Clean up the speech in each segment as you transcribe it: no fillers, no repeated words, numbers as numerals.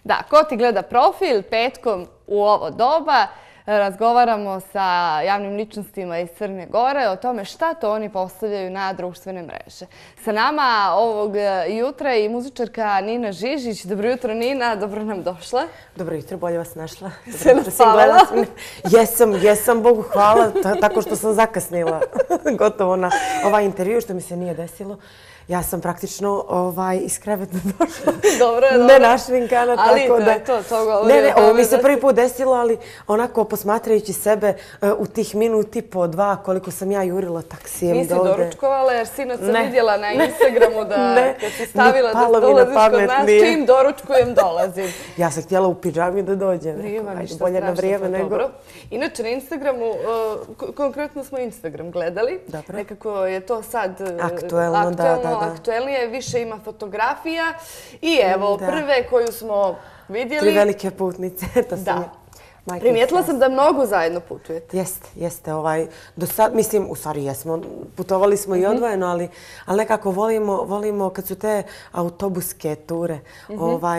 Da, ko ti gleda profil petkom u ovo doba, razgovaramo sa javnim ličnostima iz Crne Gore o tome šta to oni postavljaju na društvene mreže. Sa nama ovog jutra i muzičarka Nina Žižić. Dobro jutro, Nina, dobro nam došla. Dobro jutro, bolje vas našla. Se naspavila? Jesam, Bogu hvala, tako što sam zakasnila gotovo na ovaj intervju, što mi se nije desilo. Ja sam praktično iz kreveta došla. Dobro. Ne našminkana, tako da... Ali to govori. Ne, ovo mi se prvi put desilo, ali onako posmatrajući sebe u tih minut i po dva, koliko sam ja jurila taksijem Nisi dole. doručkovala, jer sinoć sam vidjela na Instagramu da kad si stavila da dolaziš kod nas, čim doručkujem dolazim. Ja sam htjela u pidžami da dođem. Nema ništa bolje na vrijeme strašno, nego... dobro. Inače, na Instagramu, konkretno smo Instagram gledali. Dobro. Nekako je to sad aktuelno, da. Aktuelnije, više ima fotografija. I evo, prve koju smo vidjeli... 3 velike putnice, to sam Primijetila sam da mnogo zajedno putujete. Jeste. Do sad, mislim, u stvari jesmo, putovali smo i odvojeno, ali nekako volimo kad su te autobuske ture,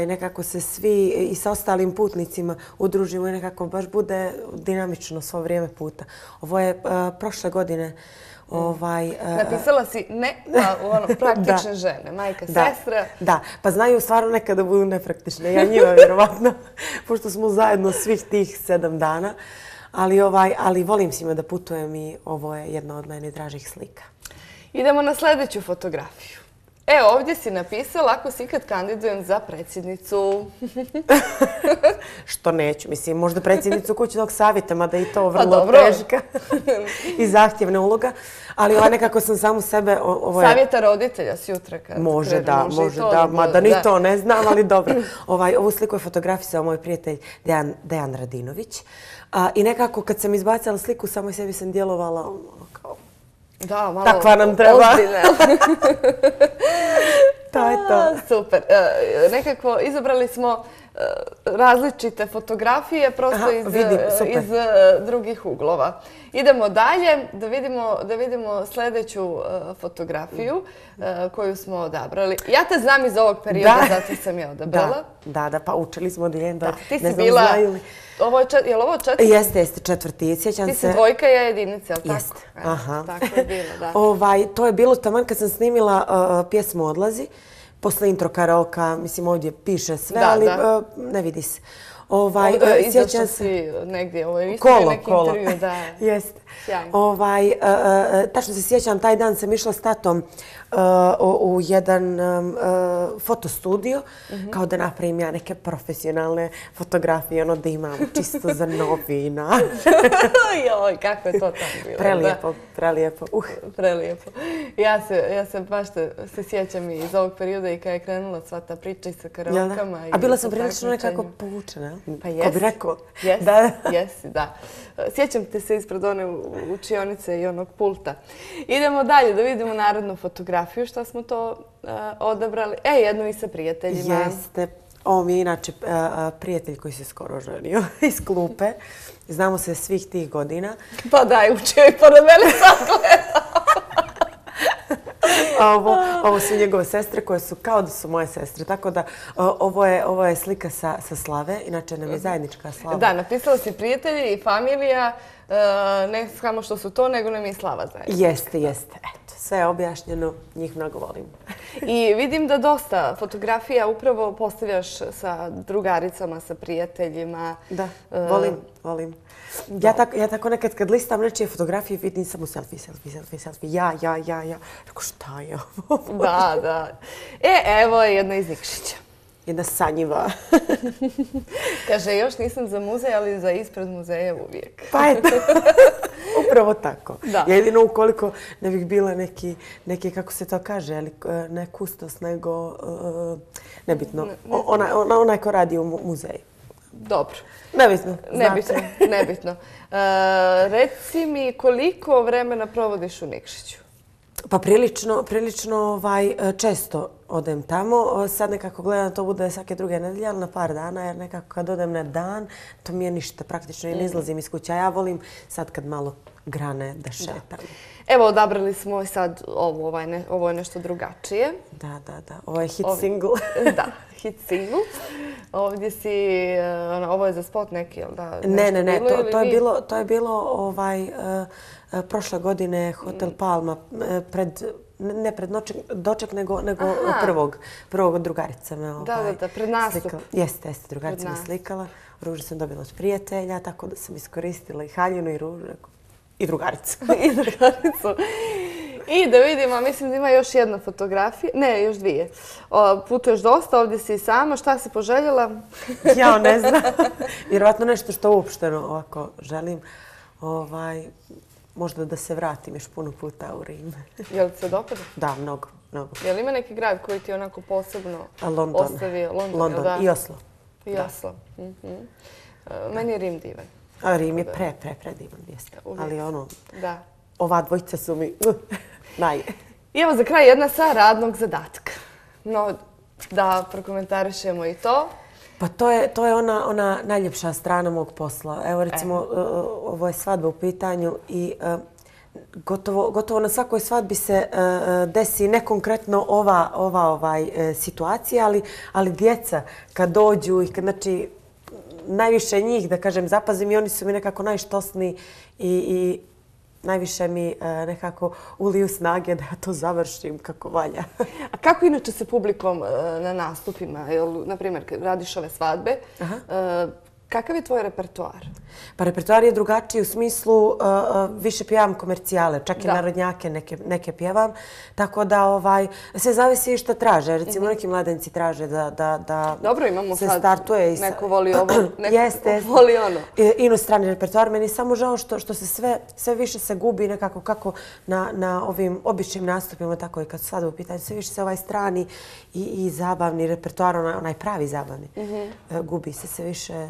nekako se svi i sa ostalim putnicima udružimo i nekako baš bude dinamično svo vrijeme puta. Ovo je prošle godine. Napisala si praktične žene, majka, sestra. Da, pa znaju stvarno nekada budu nepraktične. Ja njima vjerovatno, pošto smo zajedno svih tih 7 dana. Ali volim s njima da putujem i ovo je jedna od meni dražih slika. Idemo na sljedeću fotografiju. Evo, ovdje si napisala ako se ikad kandidujem za predsjednicu. Što neću, mislim, možda predsjednicu kućnog savjeta, mada i to vrlo teška i zahtjevna uloga. Ali nekako sam samu sebe... Savjeta roditelja s jutra kad može da, mada ni to ne znam, ali dobro. Ovu sliku je fotografisao moj prijatelj Dejan Radinović. I nekako kad sam izbacala sliku, samoj sebi sam djelovala kao... Da, malo takva nam treba. Ozbiljne. To je to. Super. Nekako izabrali smo različite fotografije prosto iz drugih uglova. Idemo dalje da vidimo sljedeću fotografiju koju smo odabrali. Ja te znam iz ovog perioda, zato sam je odabrala. Da, pa učili smo od Ljenda. Ti si bila... Je li ovo četvrti? Jeste, četvrti. Sjećam se... Ti si dvojka, ja jedinica, ali tako? Jeste, aha. Tako je bilo, da. To je bilo taman kad sam snimila pjesmu Odlazi. Posle intro karaoka, mislim ovdje piše sve, ali ne vidi se. Izašla si negdje, ovo je isto neki intervju, da. Jeste. Sjajno. Tačno se sjećam, taj dan sam išla s tatom u jedan fotostudio, kao da napravim ja neke profesionalne fotografije, da imam čisto za novina. Joj, kako je to tamo bilo. Prelijepo. Prelijepo. Ja se baš se sjećam i iz ovog perioda i kada je krenula sva ta priča i sa karaokama. A bila sam prilično nekako povučena. Pa jesi. Ko bi rekao. Jesi, da. Sjećam te se ispred one učionice i onog pulta. Idemo dalje da vidimo narodnu fotografiju. Šta smo to odabrali? Jednu i sa prijateljima. Jeste. Ovo mi je inače prijatelj koji se skoro ženio iz klupe. Znamo se svih tih godina. Pa daj, učio i pored mene sad gleda. Ovo su njegove sestre koje su kao da su moje sestre. Tako da ovo je slika sa slave. Inače nam je zajednička slava. Da, napisala si prijatelji i familija. Ne samo što su to, nego nam je i slava zajednička. Jeste. Eto, sve je objašnjeno. Njih mnogo volim. I vidim da dosta fotografija upravo postavljaš sa drugaricama, sa prijateljima. Da, volim. Ja tako nekad kad listam nečije fotografije vidim samo selfie. Ja. Rekao, šta je ovo? Da. Evo je jedna iz Nikšića. Jedna sanjiva. Kaže, još nisam za muzej, ali za ispred muzeja uvijek. Pa eto, upravo tako. Jedino ukoliko ne bih bila neki, kako se to kaže, ne kustos, nego nebitno. Onaj ko radi u muzeju. Dobro. Nebitno. Reci mi koliko vremena provodiš u Nikšiću? Pa prilično često odem tamo. Sad nekako gledam to bude svake druge nedelje, ali na par dana, jer nekako kad odem na dan, to mi je ništa praktično i ne izlazim iz kuća. Ja volim sad kad malo grane da šetam. Evo, odabrali smo sad ovo je nešto drugačije. Da. Ovo je hit single. Da, hit single. Ovdje si, ovo je za spot neki, jel da? Ne, to je bilo prošle godine Hotel Palma, ne pred doček, nego prvog od drugarica me Da, pred nastup. Jeste, drugarica me slikala. Ružu sam dobila od prijatelja, tako da sam iskoristila i haljinu i ružu i drugaricu. I drugaricu. I da vidimo, mislim da ima još jedna fotografija. Ne, još dvije. Putuješ dosta, ovdje si i sama. Šta si poželjela? Ja ne znam. Vjerovatno nešto što uopšteno ovako želim. Možda da se vratim još puno puta u Rim. Je li se dopada? Da, mnogo. Je li ima neki grad koji ti onako posebno ostavio? London i Oslo. I Oslo. Meni je Rim divan. Rim je predivan mjesto. Ali ova dvojica su mi naj. I evo za kraj jedna sa radnog zadatka. No, da prokomentarišemo i to. Pa to je ona najljepša strana mog posla. Evo recimo, ovo je svadba u pitanju i gotovo na svakoj svadbi se desi ne konkretno ova situacija, ali djeca kad dođu i znači najviše njih, da kažem, zapazim i oni su mi nekako najštosniji i najviše mi nekako uliju snage da ja to završim kako valja. A kako inače se publikom na nastupima, na primjer, kad radiš ove svadbe, kakav je tvoj repertoar? Pa repertoar je drugačiji u smislu više pjevam komercijale, čak i narodnjake neke pjevam. Tako da sve zavisi što traže. Recimo neki mladenci traže da dobro, imamo se startuje. Neko voli ovo, neko voli ono. Inostrani repertoar. Meni je samo žao što se sve više se gubi nekako kako na ovim običnim nastupima, tako i kad su svadbe u pitanju, sve više se ovaj strani i zabavni repertoar, onaj pravi zabavni, gubi se sve više.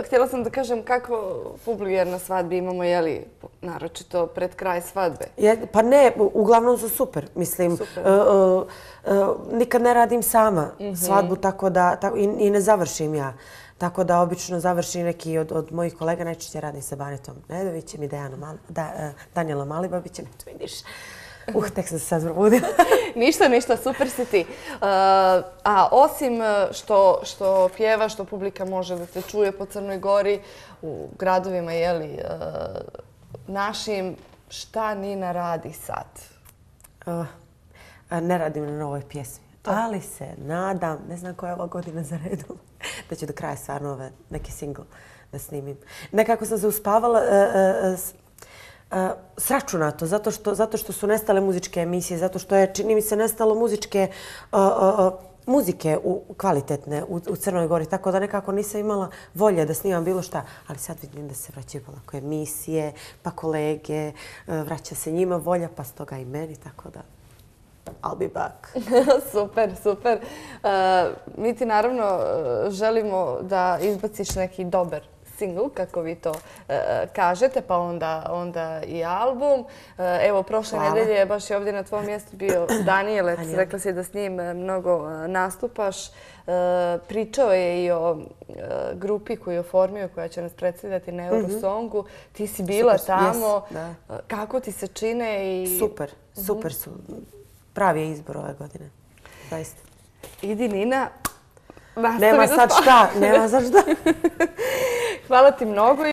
Htjela sam da kažem kako publike na svadbi imamo, jeli, naročito pred kraj svadbe? Pa ne, uglavnom su super. Mislim, nikad ne radim sama svadbu, tako da i ne završim ja. Tako da obično završi neki od mojih kolega, najčešće radim sa Banetom Nedovićem i Danijelom Malibabićem. Tu vidiš. Tek sam se sad probudila. Ništa, super si ti. A osim što pjevaš, što publika može da te čuje po Crnoj Gori, u gradovima, jeli, našim, šta Nina radi sad? Ne radim na novoj pjesmi, ali se nadam, ne znam koja je ova godina za redom, da ću do kraja stvarno neki singl da snimim. Nekako sam se uspavala sračunato, zato što su nestale muzičke emisije, zato što je, čini mi se, nestalo muzike kvalitetne u Crnoj Gori, tako da nekako nisam imala volje da snimam bilo šta, ali sad vidim da se vraćaju polako emisije, pa kolege, vraća se njima volja, pa stoga i meni, tako da I'll be back. Super. Mi ti naravno želimo da izbaciš neki dobar singl, kako vi to kažete, pa onda i album. Evo, prošle nedelje baš je ovdje na tvojom mjestu bio Danijelec. Rekla si da s njim mnogo nastupaš. Pričao je i o grupi koju je oformio, koja će nas predstavljati na Eurosongu. Ti si bila tamo. Kako ti se čine? Super su. Pravi je izbor ove godine. Zaista. Idi, Nina. Nema sad šta. Hvala ti mnogo.